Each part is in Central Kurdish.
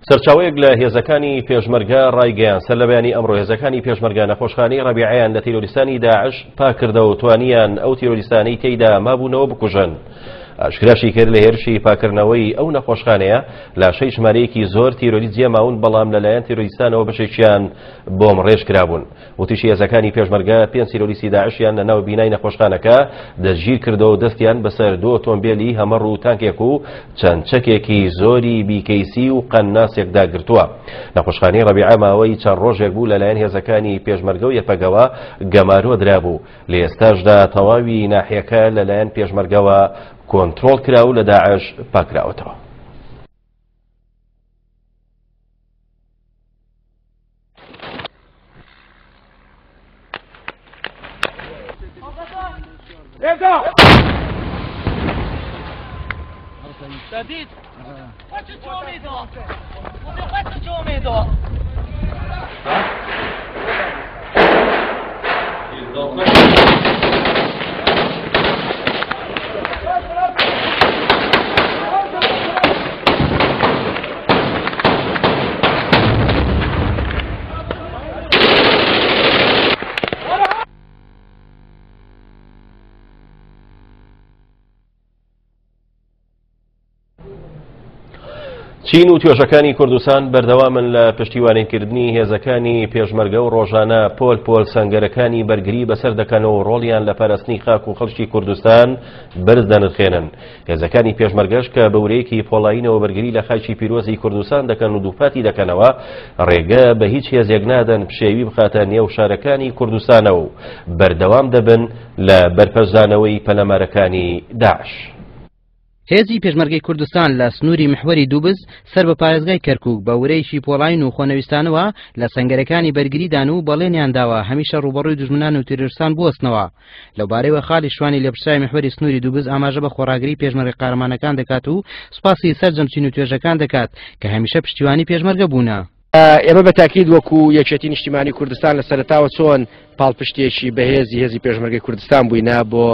سەرچاوەیەک لە هێزەکانی پێشمەرگە ڕایگەیاند، سەرلەبەیانی ئەمڕۆ هێزەکانی پێشمەرگە نەخۆشخانەی ڕەبیعەیان لە تیرۆریستانی داعش پاککردەوە و توانیان ئەو تیرۆریستانەی تێیدا مابوونەوە بکوژن. ئاشکراشی کرد لە هێرشی پاککردنەوەی ئەو نەخۆشخانەیە لاشەی ژمارەیەکی زۆر تیرۆریست جێماون، بەڵام لەلایەن تیرۆریستانەوە بەشێکیان بۆمڕێژ کرابوون. وتیشی هێزەکانی پێشمەرگە پێنج تیرۆریستی داعشیان لە ناو بینای نەخۆشخانەکە دەستگیر کردەوە و دەستیان بەسەر دوو ئۆتۆمبێلی هەمەڕ و تانکێک و چەند چەکێکی زۆری بیکەیسی و قەنناسێکدا گرتووە. نەخۆشخانەی ڕەبیعە ماوەی چەند ڕۆژێک بوو لەلایەن هێزەکانی پێشمەرگە و یەپەگەوە گەمارۆ درابوو، لە ئێستاشدا تەواوی ناحیەکە لەلایەن پێشمەرگەوە کۆنترۆڵ کرا و لە داعش پاکراوەتەوە. چین و توێژەکانی کوردستان بەردەوامن لە پشتیوانیکردنی هێزەکانی پێشمەرگە و ڕۆژانە پۆل پۆل سەنگەرەکانی بەرگری بەسەر دەکەن و ڕۆڵیان لە پاراستنی خاک و خەڵکی کوردستان بەرز دەنرخێنن. هێزەکانی پێشمەرگەش کە بە ورەیەکی پۆڵایینەوە بەرگری لە خاکی پیرۆزی کوردستان دەکەن و دووپاتی دەکەنەوە ڕێگە بە هیچ هێزێک نادەن پشێوی بخاتە نێو شارەکانی کوردستانەوە و بەردەوام دەبن لە بەرپەرچدانەوەی پەلامارەکانی داعش. هێزی پێشمەرگەی کوردستان لە سنووری محوەری دووبز سەر بە پارێزگای کەرکووک بە ورەیەکی پۆڵاین و خۆنەویستانەوە لە سەنگەرەکانی بەرگریدان و بەڵێنیان داوە هەمیشە ڕووبەڕووی دوژمنان و تیرۆرستان بوەستنەوە. لەوبارەیەوە خالی شوانی لێپرسراوی محوەری سنووری دووبز ئاماژە بە خۆڕاگری پێشمەرگە قارەمانەکان دەکات و سوپاسی سەرجەم چین و توێژەکان دەکات کە هەمیشە پشتیوانی پێشمەرگە بوونە. ئێمە بە تاکید وەکو یەکێتی نیشتیمانی کوردستان لە سەرەتاوە چۆن پاڵپشتێکی بەهێزی هێزی پێشمەرگەی کوردستان بووینە بۆ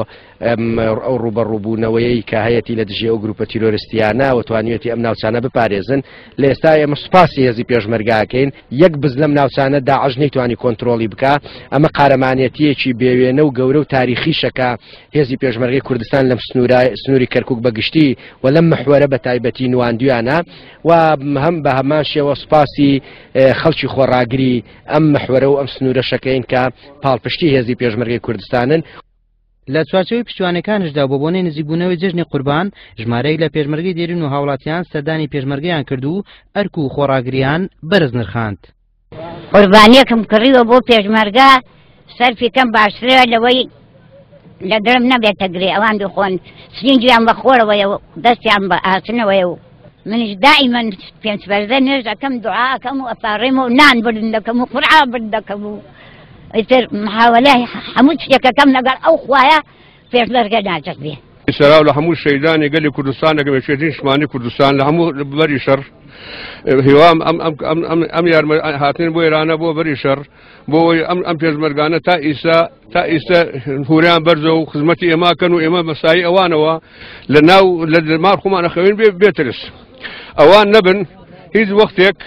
ئەو ڕووبەڕووبوونەوەیەی کە هەیەتی لە دژی ئەو گروپە تیرۆرستیانە و توانیوێتی ئەم ناوچانە بپارێزن لە ئێستا ئێمە سوپاسی هێزی پێشمەرگاکەین یەک بز لەم ناوچانە داعش نەیتوانی کۆنترۆڵی بکا ئەمە قارەمانێتیەکی بێوێنە و گەورە و تاریخیشە کە هێزی پێشمەرگەی کوردستان لەم سنوورە سنووری کەرکک بە گشتی و لەم محوەرە بە تایبەتی نواندویانە و هەم بە هەمان شێوە سوپاسی خەڵکی خۆڕاگری ئەم محوەرە و ئەم سنوورەشەکەین کە پاڵپشتی هێزی پێشمەرگەی کوردستانن. لە چوارچێوەی پشتیوانەکانیشدا بۆ بۆنەی نزیکبوونەوەی جەژنی قوربان، ژمارەیەک لە پێشمەرگەی دێرین و هاوڵاتیان سەردانی پێشمەرگەیان کرد و ئەرک و خۆڕاگرییان بەرز نرخاند. قوربانیەکم کڕیوە بۆ پێشمەرگە سەرفی کەم باشترە لەوەی لە دڵم نەبێتە گرێ ئەوان بخۆن سرینجیان بە خۆرەوەیە و دەستیان بە ئاسنەوەیە و منیش دائیمەن پێنج فەرزە نوێژ ئەکەم دوعا ئەکەم و ئەپاڕێم و نان برد دەکەم و قورعا برد دەکەم و ئیتر محاولە هەموو شتێکەکەم لەگەڵ ئەو خوایە پێشمەرگە ناجەت بێ. سەراو لە هەموو شەیدانی گەلی کوردستان دەکەم یەکێتی نیشتمانی کوردستان لە هەموو بەری شەڕ هیوام ئەم ئەم ئەم ئەم ئەم یارمە هاتن بۆ ئێرانە بۆ بەری شەڕ بۆ ئەوەی ئەم ئەم پێشمەرگانە تا ئیسا تا ئیستا هوریان بەرزە و خزمەتی ئێمە کەن و ئێمە مەسایی ئەوانەوە لە ناو لە مار خۆمان ئەخەوین بێ بێترس ئەوان نەبن هیچ وەختێک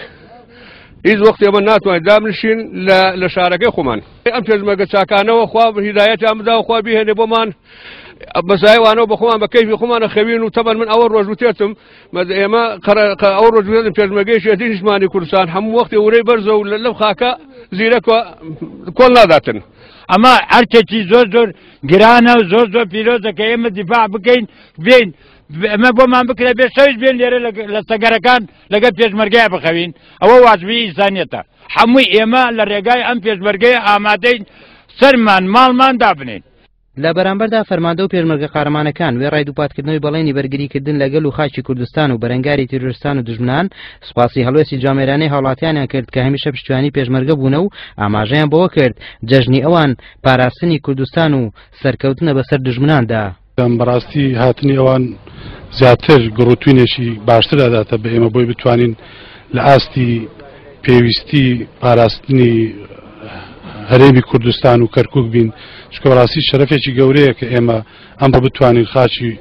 هیچ وەخت ئێمە ناتوانین دابنشین لە شارەکەی خۆمان ئەم پێشمەرگە چاکانەوە خوا هیدایەتیان بدا و خوا بیهێنێ بۆمان بەسایوانەوە بە خۆمان بە کەیفی خۆمانە خەوین و تەبەن من ئەوە ڕۆژ وتێتم ئێمە ئەو ڕۆژ وتێتم پێشمەرگەی شێتی نیشتمانی کوردستان هەموو وەختی ورەی بەرزە و لەو خاکە زیرەکە کۆڵ ناداتن. ئەمە ئەرکێکی زۆر زۆر گرانە و زۆر زۆر پیرۆزە کە ئێمە دیفاع بکەین بین ئەمە بۆمان بکرێ بێ شەویش بێن لێرە لە سەگەرەکان لەگەڵ پێشمەرگەیە بخەوین ئەوە واجبی ئینسانیەتە هەمووی ئێمە لە ڕێگای ئەم پێشمەرگەیە ئامادەین سەرمان ماڵمان دابنین. لە بەرامبەردا فەرماندە و پێشمەرگە قارەمانەکان وێڕای دووپاتکردنەوەی بەڵێنی بەرگریکردن لە گەل و خاکی کوردستان و بەرەنگاری تیرۆرستان و دوژمنان، سوپاسی هەڵوێستی جوامێرانەی هاوڵاتیانیان کرد کە هەمیشە پشتیوانی پێشمەرگە بوونە و ئاماژەیان بەوە کرد جەژنی ئەوان پاراستنی کوردستان و سەرکەوتنە بەسەر دوژمناندا. بەڕاستی هاتنی ئەوان زیاتر گڕوتوینێکی باشتر ئەداتە بە ئێمە بۆی بتوانین لە ئاستی پێویستی پاراستنی هەرێمی کوردستان و کەرکک بین چکە بەڕاستی شەرەفێکی گەورەیە کە ئێمە ئەمڕۆ بتوانین خاکی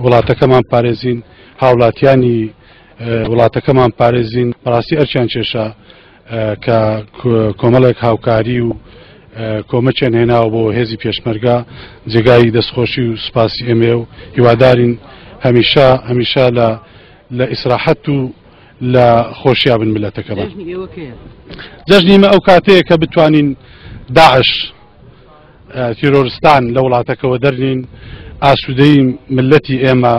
وڵاتەکەمان پارێزین هاوڵاتیانی وڵاتەکەمان پارێزین. بەڕاستی ئەرکیان کێشا کە کۆمەڵێک هاوکاری و کۆمەکیان هێناوە بۆ هێزی پێشمەرگە، جێگای دەستخۆشی و سوپاسی ئێمەیە و هیوادارین هەمیشە هەمیشە لە لە ئیسراحەت و لە خۆشیا بن ملەتەکەمان. جەژنی ئێمە ئەو کاتەیە کە بتوانین داعش تیرۆرستان لە وڵاتەکەوە دەرنین، ئاسوودەی ملەتی ئێمە،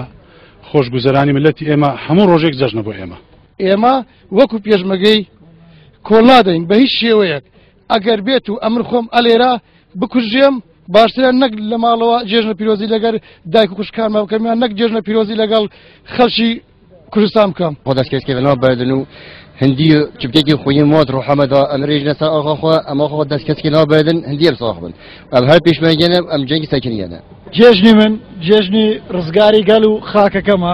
خۆشگوزەرانی ملەتی ئێمە هەموو ڕۆژێک جەژنە بۆ ئێمە. ئێمە وەکو پێشمەگەی کۆڵ نادەین بە هیچ شێوەیەک، ئەگەر بێت و ئەمن خۆم ئەلێرە بکوژێم باشترە نەک لە ماڵەوە جێژنە پیرۆزی لەگەر دایک و خوشکانما بکەم یان نەک جێژنە پیرۆزی لەگەڵ خەڵکی کوردستان بکەم. خۆ دەستکەسکێ بەناو بەردن و هەندی چبکێکی خۆی مۆت ڕۆحەمەدا ئەم ڕێژنە سەر ئاخا خۆ ئەمە خۆ دەستکەسکی ناو بەردن هەندی ئەم ساخ بن ئەم هەر پێشمەرگێنە ئەم جەنگی سەکنیەنە. جێژنی من جێژنی ڕزگاری گەل و خاکەکەمە،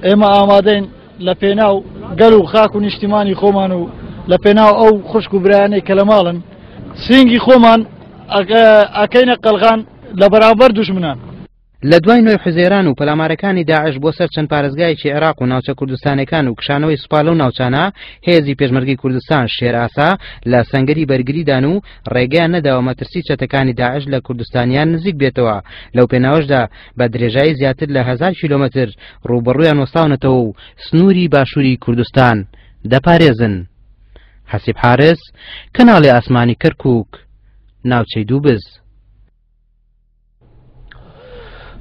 ئێمە ئامادەین لە پێناو گەل و خاک و نیشتیمانی خۆمان و لە پێناو ئەو خوشک و برایانەی کە لە ماڵن سینگی خۆمان ئەکەینە قەلغان لە بەرامبەر دوژمنان. لە دوای نۆی حوزەیران و پەلامارەکانی داعش بۆ سەر چەند پارێزگایەکی عێراق و ناوچە کوردستانەکان و کشانەوەی سوپا لەو ناوچانە، هێزی پێشمەرگەی کوردستان شێرئاسا لە سەنگەری بەرگریدان و ڕێگەیان نەداوە مەترسی چەتەکانی داعش لە کوردستانیان نزیک بێتەوە، لەو پێناوەشدا بە درێژایی زیاتر لە 1000 کیلۆمەتر ڕووبەڕوویان وەستاونەتەوە و سنووری باشووری کوردستان دەپارێزن. حەسیب حارس، کەناڵی ئاسمانی کەرکووک، ناوچەی دووبز.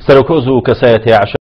سەرۆکۆز و کەسایەتی عەشایەتی.